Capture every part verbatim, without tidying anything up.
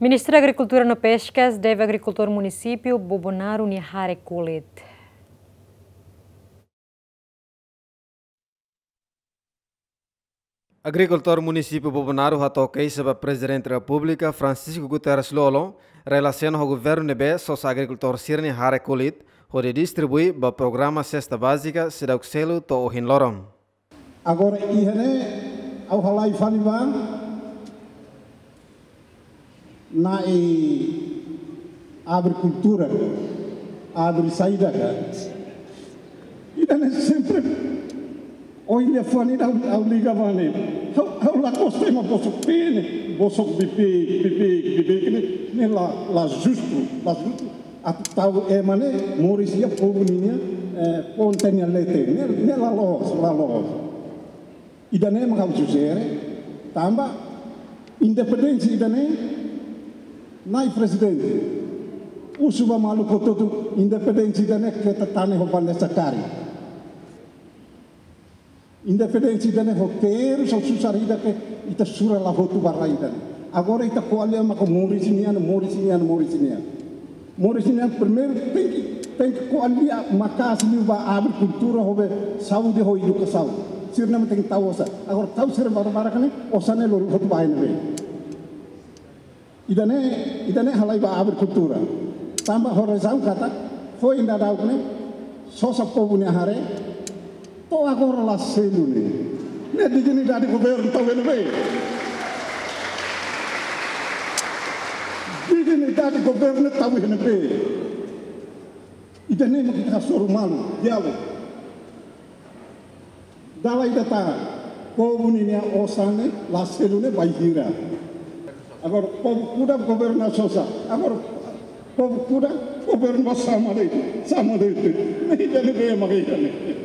Ministru Agrikultura no Peskas deve agrikultór munisípiu Bobonaro nia hare kulit. Agrikultór munisípiu Bobonaro hato'o keixa ba Prezidente Repúblika Francisco Guterres Lú-Olo, relasiona ho governu ne'ebé sosa agrikultór sira-nia hare kulit hodi distribui ba programa sesta bázika seidauk selu to'o ohin loron. Agora, iha ne'e, ha'u halai fali ba Na'i agrikultura, agri saida ka. Ida-ne'e sempre, ohin liafuan ida ha'u, ha'u liga ba ne'e. Ha'u, ha'u la gosta ema bosok pene, bosok bibik, bibik, bibik ne'e, ne'e la, la justu, la justu. Atu tau ema ne'e moris iha povu ninia, eh, ponta nia leten. Ne'e, ne'e la loos, la loos. Ida-ne'e mak ha'u sujere, tanba independénsia ida-ne'e, Na'i Prezidente, husu ba maluk hotu-hotu, independénsia ida-ne'e keta tane ho bandeja karik. Independénsia ida-ne'e ho terus, ho susar ida ke ita sura la hotu ba rai ida-ne'e. Agora ita ko'alia mak moris nian, moris nian, moris nian. Moris nian primeiru tenke, tenke ko'alia maka'as liu ba agrikultura ho be saúde ho edukasaun. Sira-ne'e mak tenke tau osan. Agora tau sira barbarak ne'e, osan ne'e lori hotu ba iha ne'ebé. Ida-ne'e, ida-ne'e halai ba agrikultura. Tanba ho razaun katak, foin daudauk ne'e, sosa povu nia hare, to'o agora la selu ne'e. Ne'e dignidade governu tau iha ne'ebé? Dignidade governu tau iha ne'ebé? Ida-ne'e mak ita hasoru malu, diálogu. Dala ida tan, povu ninia osan ne'e la selu ne'e bainhira. Agora, povu kuda governu sosa. Agora, povu kuda governu ba sama de'it, sama de'it. Ne'e ida-ne'ebé mak ida-ne'e?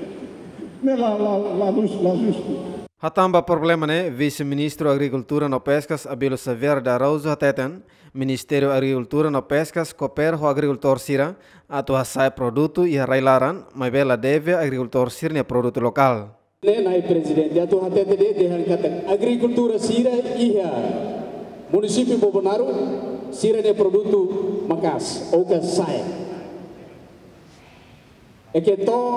Ne'e la, la, la lus, la justu. Hatán ba problema ne'e, Vise-Ministru Agrikultura no Peskas Abílio Xavier de Araújo hateten, Ministériu Agrikultura no Peskas koopera ho agrikultór sira atu hasa'e produtu iha rai-laran, maibé la deve agrikultór sira-nia produtu lokál. Ne'e Na'i Prezidente atu hatete de'it dehan katak agrikultór sira iha munisípiu Bobonaro sira-nia produtu maka'as, ou ka sa'e. I ke to'o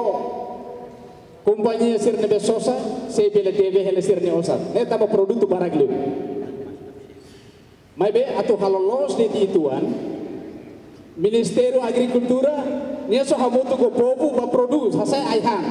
kompañia sira ne'ebé sosa, sei bele deve hela sira-nia osan. Ne'e tanba produtu barak liu. Maibé atu halo loos de'it uitoan, Ministériu Agrikultura, nia só hamutuk ho povu ba produz, hasa'e ai-han.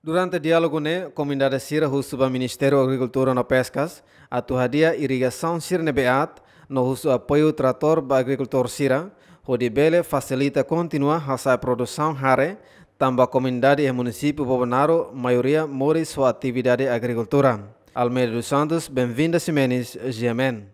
Durante diálogu ne'e, komunidade sira husu ba Ministériu Agrikultura no Peskas atu hadi'a irrigasaun sira ne'ebé aat, no husu apoiu tratór ba agrikultór sira, hodi bele fasilita kontinua hasa'e produsaun hare, tanba komunidade iha munisípiu Bobonaro maioria moris ho atividade agrikultura. Almeida dos Santos, Benvinda Ximenes, G M N.